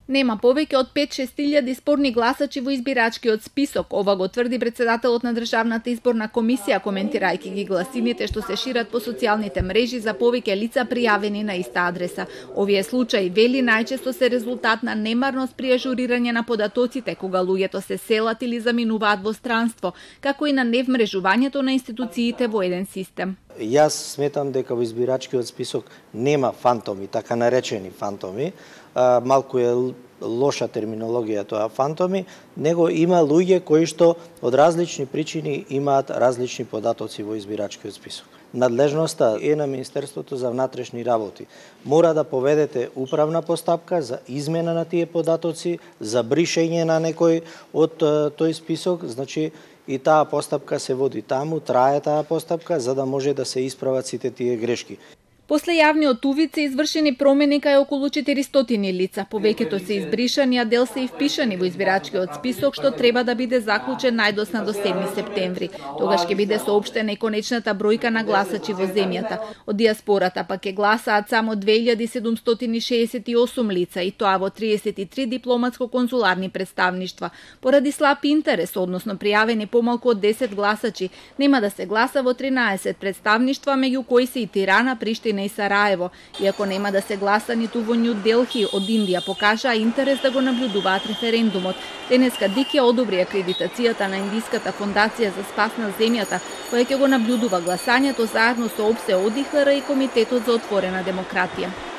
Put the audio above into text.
Нема повеќе од 5-6 спорни гласачи во избирачкиот список. Ова го тврди председателот на Државната изборна комисија, коментирајќи ги гласините што се шират по социјалните мрежи за повеќе лица пријавени на иста адреса. Овие случаи, вели, најчесто се резултат на немарност при ажурирање на податоците, кога луѓето се селат или заминуваат во странство, како и на невмрежувањето на институциите во еден систем. Јас сметам дека во избирачкиот список нема фантоми, така наречени фантоми. Малку е лоша терминологија тоа фантоми, него има луѓе кои што од различни причини имаат различни податоци во избирачкиот список. Надлежноста е на Министерството за внатрешни работи. Мора да поведете управна постапка за измена на тие податоци, за бришење на некој од тој список, значи и таа постапка се води таму, трае таа постапка за да може да се исправат сите тие грешки. После јавниот увид се извршени промени кај околу 400 лица. Повеќето се избришани, а дел се и впишани во избирачкиот список, што треба да биде заклучен најдосна до 7 септември. Тогаш ќе биде соопштена и конечната бројка на гласачи во земјата. Од диаспората пак ќе гласаат само 2768 лица, и тоа во 33 дипломатско-конзуларни представништва. Поради слаб интерес, односно пријавени помалку од 10 гласачи, нема да се гласа во 13 представништва, меѓу кои се и Тирана, Приштина и Сараево. Иако нема да се гласа ниту во Нју Делхи, од Индија покажаа интерес да го наблюдуваат референдумот. Денеска ДИК ја одобри акредитацијата на Индиската фондација за спас на земјата, која ќе го наблюдува гласањето заедно со ОПСЕ, ОДИХР и Комитетот за отворена демократија.